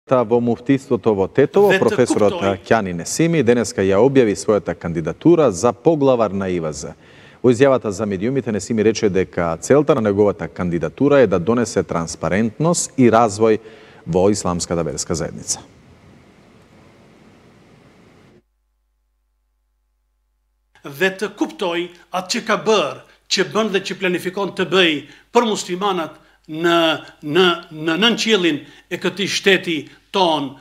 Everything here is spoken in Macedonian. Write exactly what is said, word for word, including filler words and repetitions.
Во муфтиството во Тетово, професорот Ќани Несими денеска ја објави својата кандидатура за поглавар на И В З. Во изјавата за медиумите Несими рече дека целта на неговата кандидатура е да донесе транспарентност и развој во исламската верска заедница. Dhe të kuptoj atë që ka bërë, që bën dhe që planifikon të bëj për muslimanat në në në nënqiellin e këtij shteti ton